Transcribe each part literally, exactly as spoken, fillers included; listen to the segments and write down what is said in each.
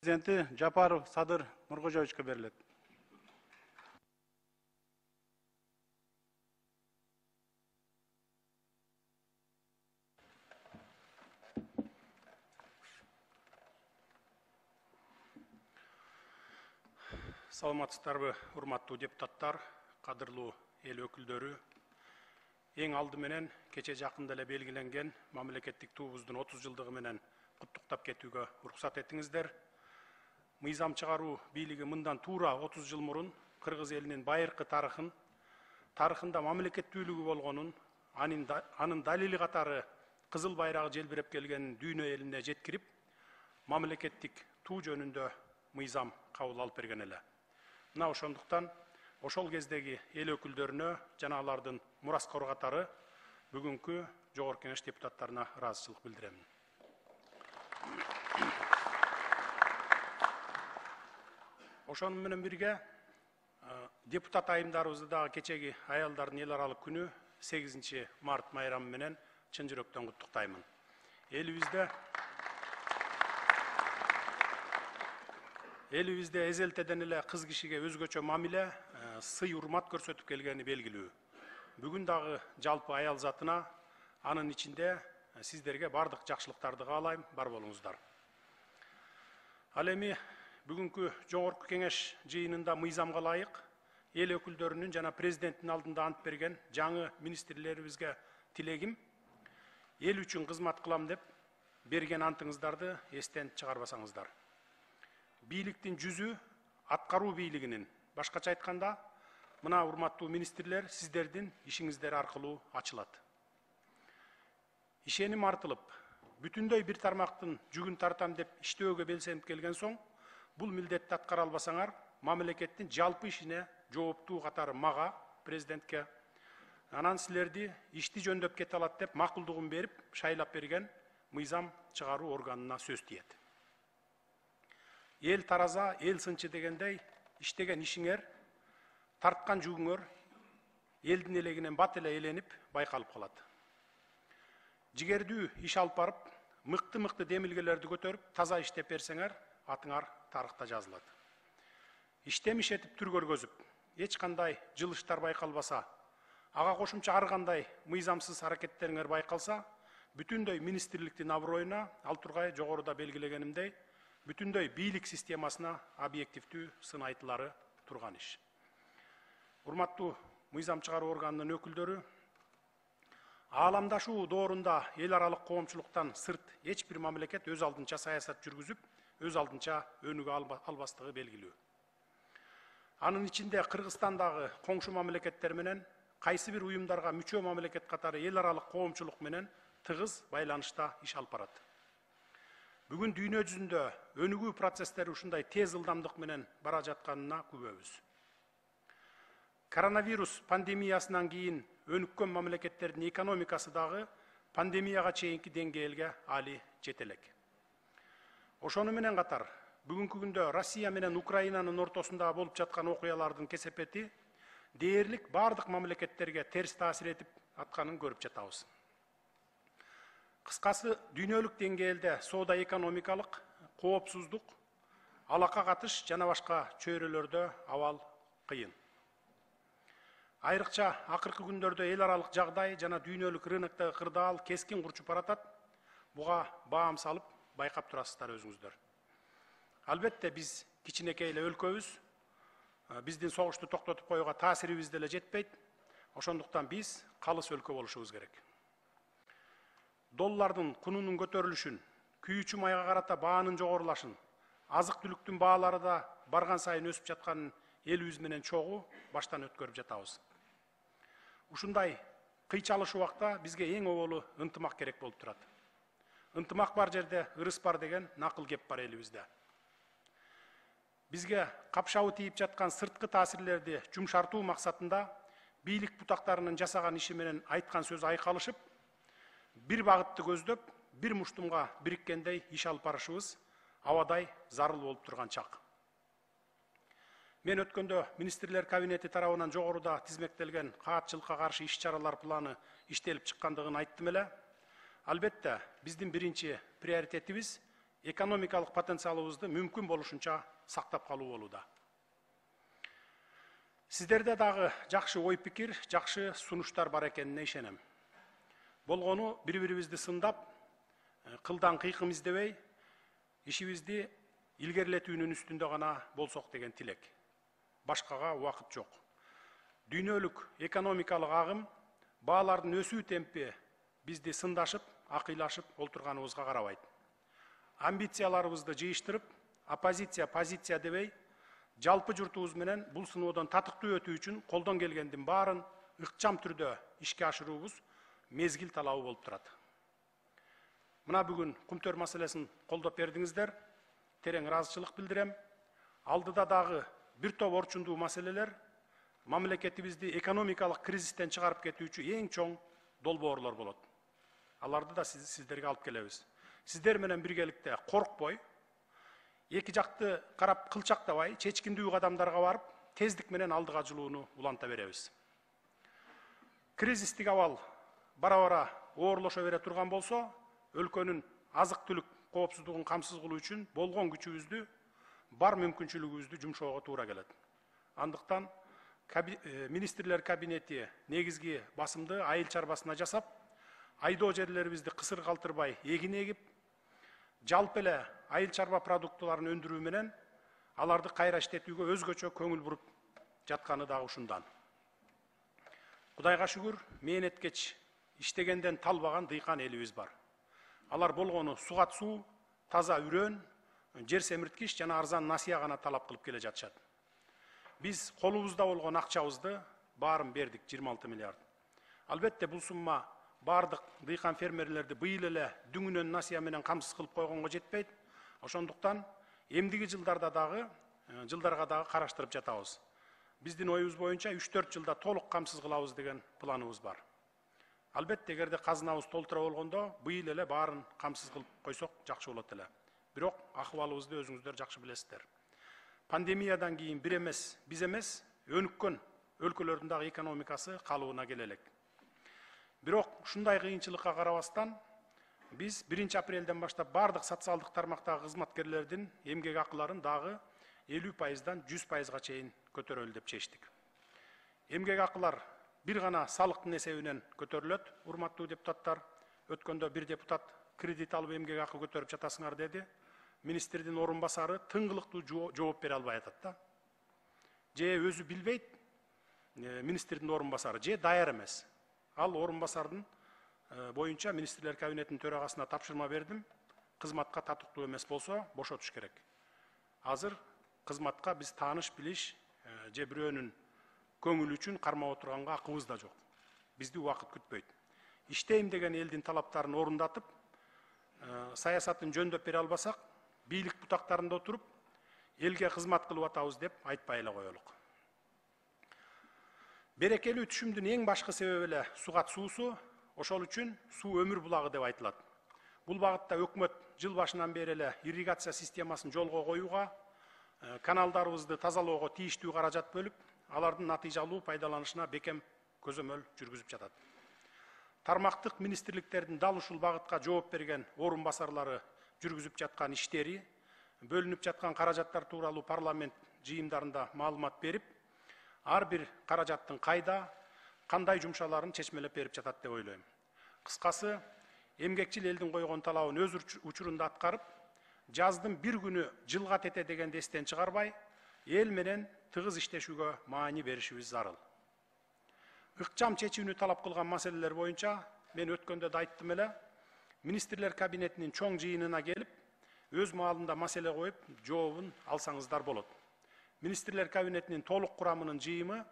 Президенти Жапаров Садыр Нуркожоевичке берилет. Саламатсыздарбы, урматтуу депутаттар, кадырлуу эл өкүлдөрү. Эң алды менен кече жакында эле белгиленген мамлекеттик туубуздун отуз жылдыгы менен куттуктап кетүүгө уруксат этиңиздер. Мыйзам чыгаруу бийлиги мындан туура отуз жыл мурун кыргыз элинин байыркы тарыхын, тарыхында мамлекеттүүлүгү болгонун, анын далили катары кызыл байрагы желбиреп келгенин дүйнө элине жеткирип, мамлекеттик туу жөнүндө мыйзам кабыл алып берген эле. Мына ошондуктан ошол кездеги эл өкүлдөрүнө жана алардын мураскор катары бүгүнкү Жогорку Кеңеш депутаттарына ыраазычылык билдирем. Ошону менен бирге депутат айымдарыбызды дагы кечеги аялдардын эл аралык күнү сегизинчи март майрамы менен чын жүрөктөн куттуктаймын. Элибизде Элибизде эзелтеден эле кыз кишиге өзгөчө мамиле, сый урмат көрсөтүп келгени белгилүү. Бүгүн дагы жалпы аял затына, анын ичинде сиздерге бардык жакшылыктарды каалайм, бар болуңуздар. Ал эми бүгүнкү Жогорку Кеңеш жыйынында мыйзамга ылайык эл өкүлдөрүнүн жана президенттин алдында ант берген жаңы министрлерибизге тилегим, эл үчүн кызмат кылам деп берген антыңыздарды эстен чыгарбасаңыздар. Бийликтин жүзү аткаруу бийлигинин, башкача айтканда, мына урматтуу министрлер сиздердин ишиңиздер аркылуу ачылат. Ишеним артылып, бүтүндөй бир тармактын жүгүн тартам деп иштөөгө белсенип келген соң, бул милдетти аткара албасаңар, мамлекеттин жалпы ишине жооптуу катары мага, президентке, анан силерди ишти жөндөп кете алат деп макулдугун берип, шайлап берген мыйзам чыгаруу органына сөз тиет. Эл тараза, эл сынчы дегендей, иштеген ишиңер, тарткан жүгүңөр элдин элегинен бат эле эленип байкалып калат. Жигердүү иш алып барып, мыкты-мыкты демилгелерди көтөрүп, таза иштеп берсеңер, атыңар тарыхта жазылат. Иштемиш этип түр көргөзүп, эч кандай жылыштар байкалбаса, ага кошумча ар кандай мыйзамсыз аракеттериңер байкалса, бүтүндөй министрликтин аброюна, ал тургай жогоруда белгилегенимдей, бүтүндөй бийлик системасына объективдүү сын айтылары турган иш. Урматтуу мыйзам чыгаруу органынын өкүлдөрү, ааламдашуу доорунда эл аралык коомчулуктан сырт эч бир мамлекет өз алдынча саясат жүргүзүп, өз алдынча өнүгө албастыгы белгилүү. Анын ичинде Кыргызстандагы коңшу мамлекеттер менен кайсы бир уюмдарга мүчө мамлекет катары эл аралык коомчулук менен тыгыз байланышта иш алып барат. Бүгүн дүйнө жүзүндө өнүгүү процесстери ушундай тез ылдамдык менен бара жатканына күбөбүз. Коронавирус пандемиясынан кийин өнүккөн мамлекеттердин экономикасы дагы пандемияга чейинки деңгээлге али жете элек. Ошону менен катар, бүгүнкү күндө Россия менен Украинанын ортосунда болуп жаткан окуялардын кесепети дээрлик бардык мамлекеттерге терс таасир этип атканын көрүп жатабыз. Кыскасы, дүйнөлүк деңгээлде соода экономикалык, коопсуздук, алака катыш жана башка чөйрөлөрдө абал кыйын. Айрыкча акыркы күндөрдө эл аралык жагдай жана дүйнөлүк рыноктогу кырдаал кескин курчуп баратат. Буга баам салып байкап турасыздар өзүңүздөр. Албетте биз кичинекей эле өлкөбүз, биздин согушту токтотуп коюуга таасирибиз деле жетпейт. Ошондуктан биз калыс өлкө болушубуз керек. Доллардын кунунун көтөрүлүшүн, күйүүчү майга карата баанын жогорулашын, азык түлүктүн баалары да барган сайын өсүп жатканын элибиз менен чогуу баштан өткөрүп жатабыз. Ушундай кыйчалыш убакта бизге эң оболу ынтымак керек болуп турат. Ынтымак бар жерде ырыс бар деген накыл кеп бар элибизде. Бизге капшабы тийип жаткан сырткы таасирлерди жумшартуу максатында бийлик бутактарынын жасаган иши менен айткан сөз айкалышып, бир багытты көздөп, бир муштумга бириккендей иш алып барышыбыз абадай зарыл болуп турган чак. Мен өткөндө министрлер кабинети тарабынан жогоруда тизмектелген каатчылыкка каршы иш чаралар планы иштелип чыккандыгын айттым эле. Албетте, биздин биринчи приоритетибиз экономикалык потенциалыбызды мүмкүн болушунча сактап калуу болууда. Сиздерде дагы жакшы ой пикир, жакшы сунуштар бар экенине ишенем. Болгону бири-бирибизди сындап, кылдан кыйкым издебей, ишибизди илгерилетүүнүн үстүндө гана болсок деген тилек. Башкага убакыт жок. Дүйнөлүк экономикалык агым, баалардын өсүү темпи бизди сындашып, акыйлашып олтурганыбызга карабайт. Амбицияларыбызды жыйыштырып, оппозиция позиция дебей, жалпы журтубуз менен бул сыноодон татыктуу өтүү үчүн колдон келгендин баарын ыкчам түрдө ишке ашыруубуз мезгил талабы болуп турат. Мына бүгүн кумтөр маселесин колдоп бердиңиздер, терең ыраазычылык билдирем. Алдыда дагы бир топ орчундуу маселелер мамлекетибизди экономикалык кризистен чыгарып кетүүчү эң чоң долбоорлор болот. Аларды да сиз, сиздерге алып келебиз. Сиздер менен биргеликте коркпой, эки жакты карап кылчактабай, чечкиндүү кадамдарга барып, тездик менен алдыга жылууну уланта беребиз. Кризистик абал бара-бара оорлошо бере турган болсо, өлкөнүн азык-түлүк коопсуздугун камсыз кылуу үчүн болгон күчүбүздү, бар мүмкүнчүлүгүбүздү жумшоого туура келет. Андыктан министрлер кабинети негизги басымды айыл чарбасына жасап, айдоо жерлерибизди кысыр калтырбай эгин эгип, жалпы эле айыл чарба продуктыларын өндүрүү менен аларды кайра иштетүүгө өзгөчө көңүл буруп жатканы дагы ушундан. Кудайга шүгүр, мээнеткеч иштегенден талбаган дыйкан элибиз бар. Алар болгону сугат суу, таза үрөн, жер семирткич жана арзан насыя гана талап кылып келе жатышат. Биз колубузда болгон акчабызды баарын бердик, жыйырма алты миллиард. Албетте бул сумма бардык дыйкан фермерлерди быйыл эле дүңүнөн насыя менен камсыз кылып койгонго жетпейт. Ошондуктан эмдиги жылдарда дагы, жылдарга дагы караштырып жатабыз. Биздин оюбуз боюнча үч төрт жылда толук камсыз кылабыз деген планыбыз бар. Албетте эгерде казынабыз толтура болгондо быйыл эле баарын камсыз кылып койсок жакшы болот эле. Бирок акыбалыбызды өзүңүздөр жакшы билесиздер. Пандемиядан кийин бир эмес, биз эмес, өнүккөн өлкөлөрдүн дагы экономикасы калыбына келе элек. Бирок ушундай кыйынчылыкка карабастан биз биринчи апрелден баштап бардык социалдык тармактагы кызматкерлердин эмгек акыларын дагы элүү пайыздан жүз пайызга чейин көтөрөлү деп чечтик. Эмгек акылар бир гана салыктын эсебинен көтөрүлөт, урматтуу депутаттар. Өткөндө бир депутат кредит алып эмгек акы көтөрүп жатасыңар деди. Министрдин орун басары тыңгылыктуу жооп бере албай атат да. Же өзү билбейт, министрдин орун басары, же даяр эмес. Ал орун басардын боюнча министрлер кабинетинин төрагасына тапшырма бердим. Кызматка татыктуу эмес болсо бошотуш керек. Азыр кызматка биз тааныш билиш же бирөөнүн көңүлү үчүн кармап отурганга акыбыз да жок. Бизди убакыт күтпөйт. Иштейм деген элдин талаптарын орундатып, саясатын жөндөп бере албасак, бийлик бутактарында отуруп, элге кызмат кылып атабыз деп айтпай эле коелук. Берекелүү түшүмдүн эң башкы себеби эле сугат суусу, ошол үчүн суу өмүр булагы деп айтылат. Бул багытта өкмөт жыл башынан бери эле ирригация системасын жолго коюуга, каналдарыбызды тазалоого тийиштүү каражат бөлүп, алардын натыйжалуу пайдаланышына бекем көзөмөл жүргүзүп жатат. Тармактык министрликтердин дал ушул багытка жооп берген орун басарлары жүргүзүп жаткан иштери, бөлүнүп жаткан каражаттар тууралуу парламент жыйындарында маалымат берип, ар бир каражаттын кайда, кандай жумшаларын чечмелеп берип жатат деп ойлойм. Кыскасы, эмгекчил элдин койгон талабын өз учурунда аткарып, жаздын бир күнү жылга тете дегенди эстен чыгарбай, эл менен тыгыз иштешүүгө маани беришибиз зарыл. Ыкчам чечүүнү талап кылган маселелер боюнча мен өткөндө да айттым эле, министрлер кабинетинин чоң жыйынына келип, өз маалында маселе коюп, жообун алсаңыздар болот. Министрлер кабинетинин толук курамынын жыйымы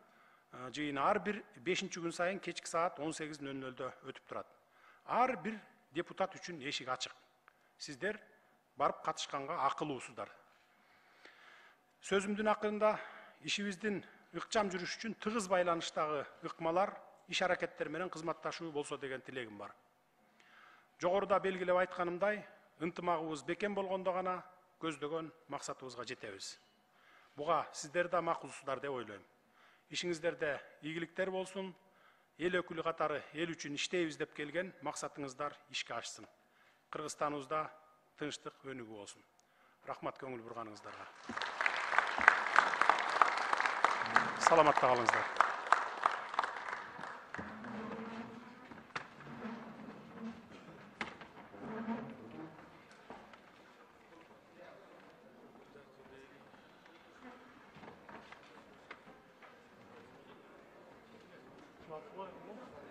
жыйыны ар бир бешинчи күн сайын кечки саат он сегиз нөл нөлдө өтүп турат. Ар бир депутат үчүн эшик ачык. Сиздер барып катышканга акылуусуздар. Сөзүмдүн акырында ишибиздин ыкчам жүрүш үчүн тыгыз байланыштагы ыкмалар, иш аракеттер менен кызматташуу болсо деген тилегим бар. Жогоруда белгилеп айтканымдай, ынтымагыбыз бекем болгондо гана көздөгөн максатыбызга жетебиз. Буга сиздер да макулсуздар деп ойлойм. Ишиңиздерде ийгиликтер болсун, эл өкүлү катары эл үчүн иштейбиз деп келген максатыңыздар ишке ашсын. Кыргызстаныбызда тынчтык өнүгүү болсун. Рахмат көңүл бурганыңыздарга. Саламатта калыңыздар. What?